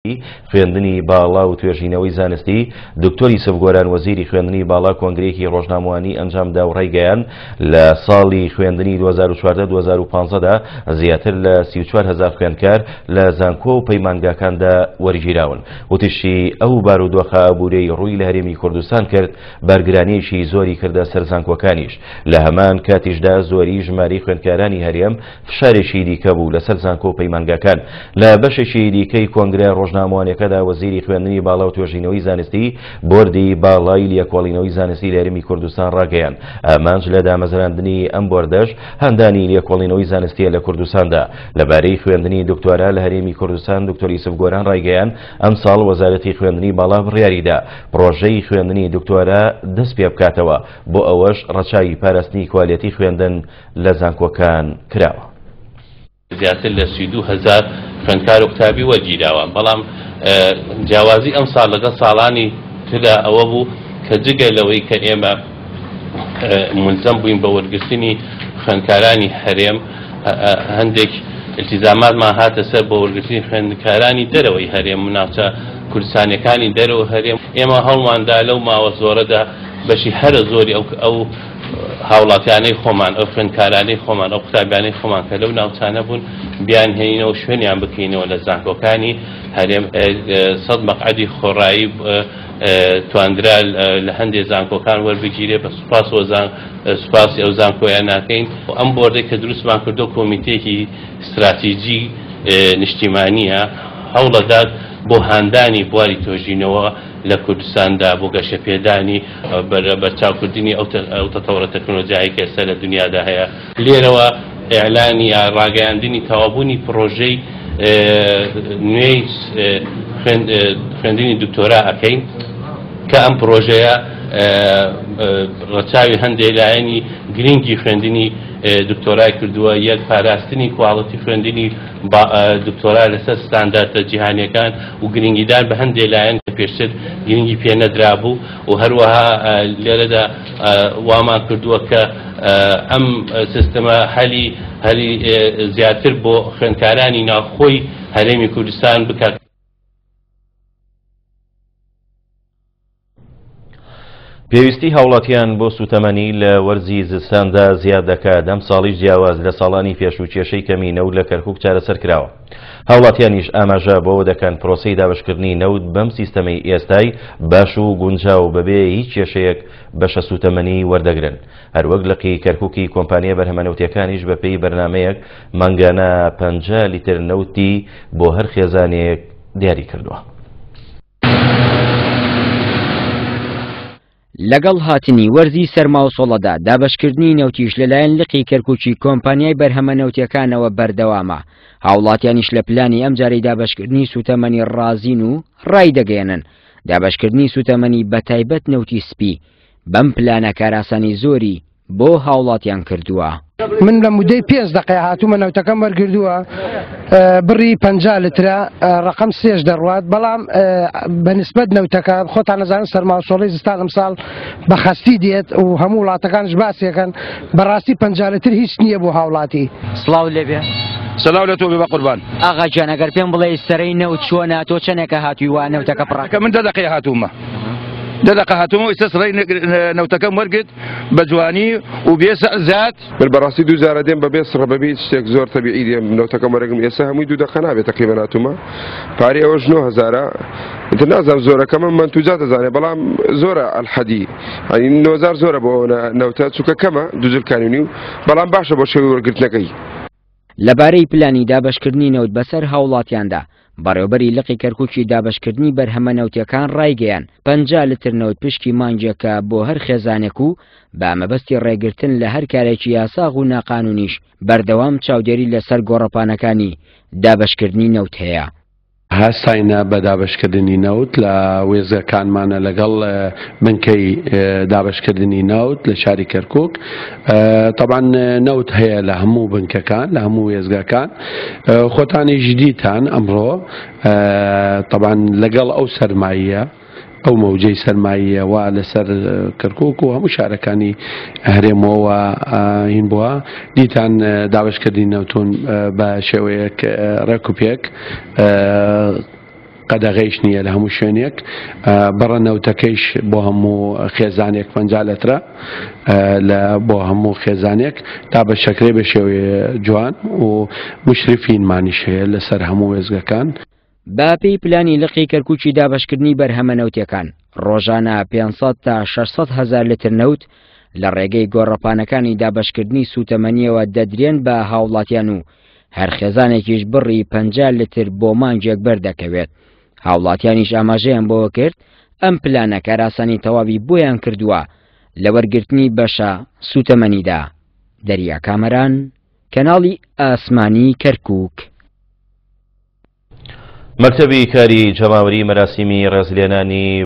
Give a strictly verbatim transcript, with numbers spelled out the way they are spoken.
خوێندنی باڵا و توێژینەوەی زانستی دکتۆر یوسف گۆران وەزیری خوێندنی باڵا کۆنگرەیەکی ڕۆژنامەوانی ئەنجامدا و ڕایگەیاند لە ساڵی خوێندنی دوو هەزار و چواردە دوو هەزار و پازدە دا زیاتر لە سی و چوار هەزار خوێندکار لە زانکۆ و پەیمانگاکاندا وەرگیراون. وتیشی ئەو بارودۆخە ئابووریەی ڕووی لە هەرێمی کوردستان کرد بارگرانیەکی زۆری کردە سەر زانکۆکانیش، لە هەمان کاتیشدا زۆری ژمارەی خوێندکارانی هەرێم فشارێکی دیکە بوو لەسەر زانکۆ و پەیمانگاکان. لە بەشێکی دیکەی کۆنگرە ڕۆژنامەوانیەکەدا وەزیری خوێندنی باڵا و توێژینەوەی زانستی بۆردی باڵای لێکۆڵینەوەی زانستی لە هەرێمی کوردستان ڕاگەیاند ئامانج لە دامەزراندنی ئەم بۆردەش هاندانی لێکۆڵینەوەی زانستیە لە کوردستاندا. لەبارەی خوێندنی دکتۆرا لە هەرێمی کوردستان دکتۆر یوسف گۆران ڕایگەیاند ئەمساڵ وەزارەتی خوێندنی باڵا بڕیاریدا پرۆژەی خوێندنی دکتۆرا دەست پێ بکاتەوە، بۆ ئەوەش ڕەچاوی پاراستنی کوالێتی خوێندن لە زانکۆکان کراوە. زیاتر لە سی و دوو هەزار خوێندکار و قوتابی وەرگیراوە، بەڵام جیاوازی ئەم ساڵ لەگەڵ ساڵانی تردا ئەوە بوو کە جگە لەوەی کە ئێمە ملزەم بووین بە وەرگرتنی خوێندکارانی هەرێم، هەندێک التزاماتمان هاتە سەر بۆ وەرگرتنی خوێندکارانی دەرەوەی هەرێم و ناوچە کوردستانیەکانی دەرەوە هەرێم. ئێمە هەوڵماندا لەو ماوە زۆرەدا بەشی هەرە زۆری ئەو ئەو هاوڵاتیانەی خۆمان، ئەو خوێندکارانەی خۆمان، ئەو قوتابیانەی خۆمان کە لەو ناوچانە بوون بیانهێنینەوە شوێنیان بکەینەوە لە زانکۆکانی هەرێم. سەد مەقعەدی خۆڕایی تواندرا لە هەندێک زانکۆکان وەربگیرێ، بە سوپاسی ئەو زانکۆیان ناکەین. ئەم بۆردەی کە دروستمان کردو کۆمیتێکی استراتیجی نیشتیمانیە، هەوڵەدات بۆ هاندانی بواری توێژینەوە لە کوردستاندا، بۆ گەشەپێدانی بەرچاوکردنی ئەو تەتەوڕە تەکنۆلۆژیایی کە ئێستا لە دنیادا هەیە. لێرەوە ئیعلانی یا ڕاگەیاندنی تەواوبوونی پرۆژەی نوێی خوێندنی دکتۆرا ئەکەین کە ئەم پرۆژەیە ڕەچاوی هەندێک لایەنی گرنگی خوێندنی دکتۆرای کردووە، یەک پاراستنی کواڵەتی خوێندنی دکتۆرا لەسەر ستانداردە جیهانیەکان و گرنگیدان بە هەندێک لایەن کە پێشتر گرنگی پێ نەدرابوو، و هەروەها لێرەدا وامان کردووە کە ئەم سیستەمە هەلی هەلی زیاتر بۆ خوێندکارانی ناوخۆی هەرێمی کوردستان بکات. پێویستی هاوڵاتیان بۆ سوتەمەنی لە وەرزی زستاندا زیاد دەکات. ئەم ساڵیش جیاواز لە ساڵانی پێشوو کێشەی کەمی نەوت لە کەرکوک چارەسەر کراوە. هاوڵاتیانیش ئاماژە بەوە دەکەن پرۆسەی دابەشکردنی نەوت بەم سیستەمەی ئێستای باش و گونجاو بەبێ هیچ کێشەیەک بەشە سوتەمەنی وەردەگرن. هەروەک لقی کەرکوکی کۆمپانیا بەرهەمە نەوتیەکانیش بەپێی بەرنامەیەک مانگانە پەنجا لیتر نەوتی بۆ هەر خێزانێک دیاری کردووە. لەگەڵ هاتنی وەرزی سەرما و سۆڵەدا دابەشکردنی نەوتیش لەلایەن لقی کەرکوکی کۆمپانیای بەرهەمە نەوتیەکانەوە بەردەوامە. هاوڵاتیانیش لە پلانی ئەم جارەی دابەشکردنی سوتەمەنی ڕازین و ڕای دەگەیەنن. دابەشکردنی سوتەمەنی بەتایبەت نەوتی سپی بەم پلانە کاراسانی زۆری بۆ هاوڵاتیان کردووە. من لە مدەی پێنج دقیقە هاتوومە نەوتەکەم وەرگردووە، بڕی پەنجا لترە، ڕقم سێش دەڕوات، بەڵام بەنسبەت نەوتەکە خۆتان نەزانن سەرما و سۆڵەی زستان ئەمساڵ بە خەستی دێت و هەموو وڵاتەکانش باسیەکەن، بەڕاستی پەنجا لتر هیچ نییە بۆ هاوڵاتی. سڵاو لێبێ. سڵاو لە تۆ بێ بە قوربان. ئاغا گیان، ئەگەر پێم بڵێ سەرەی نەوت چۆنە، تۆ چەندێکە هاتووی وا نەوتەکە پڕ؟ کە من دە دقیقە هاتوومە. دە دقیقە هاتوومە و ئێستا سەرەی نەوتەکەم وەرگرت بە جوانی و بێ زیاد. من بەڕاستی دوو جارە دێم بەبێ سڕە، بەبێ هیچ شتێک زۆر تەبیعی دێم نەوتەکەم وەرەگرم. ئێستا هەمووی دوو دقیقە نابێت تەقریبەن هاتوومە. پارەی ئەوەش نۆ هەزارە. ئیتر نازانم زۆرەکەمە منتوجات دەزانێ، بەڵام زۆرە ئەلحەدی. یعنی نۆ هەزار زۆرە بۆ ئەوە نەوتە، چونکە کەمە دوو جلکانی و نیو، بەڵام باشە بۆ شێوەی وەرگرتنەکەی. لەبارەی پلانی دابەشکردنی نەوت بەسەر هاوڵاتیاندا، بەڕێوبەری لقی کەرکوکی دابەشکردنی بەرهەمە نەوتیەکان ڕایگەیان پەنجا لتر نەوت پشکی مانگێکە بۆ هەر خێزانێک و بە مەبەستی ڕێگرتن لە هەر کارێکی یاساغ و ناقانونیش بەردەوام چاودێری لەسەر گۆڕەپانەکانی دابەشکردنی نەوت هەیە. هەستاینە بە دابەشکردنی نەوت لە وێزگەکانمانە لەگەڵ بنکەی دابەشکردنی نەوت لە شاری کەرکوک. طبعا نەوت هەیە لە هەموو بنکەکان، لە هەموو وێزگەکان. خۆتانی جدیتان ئەمڕۆ طبعا لەگەڵ ئەو سەرمایە، ئەو مەوجەی سەرماییە وا لەسەر کەرکوک و هەموو شارەکانی هەرێمەوە هین بووە، دیتان دابەشکردنی نەوتون بە شێوەیەک ڕێک و پێک قەدەغەیش نییە لە هەموو شوێنێک. بڕە نەوتەکەیش بۆ هەموو خێزانێک پەنجا لەترە لە بۆ هەموو خێزانێک دابەشەکرێ بە شێوەی جوان و مشرفینمانیش هەیە لەسەر هەموو وێزگەکان. بە پێی پلانی لقی کەرکوکی دابەشکردنی بەرهەمە نەوتیەکان ڕۆژانە پێنج سەد تا شەش سەد هەزار لتر نەوت لە ڕێگەی گۆڕەپانەکانی دابەشکردنی سوتەمەنیەوە دەدرێن بە هاوڵاتیان و هەر خێزانێکیش بڕی پەنجا لتر بۆ مانگێک بەردەکەوێت. هاوڵاتیانیش ئاماژەیان بۆوە کرد ئەم پلانە کاراسانی تەواوی بۆیان کردووە لە وەرگرتنی بەشە سوتەمەنیدا. دەریا کامەران، کەناڵی ئاسمانی کەرکوک. مەکتەبی کاری جەماوەری مەراسیمی ڕێزلێنانی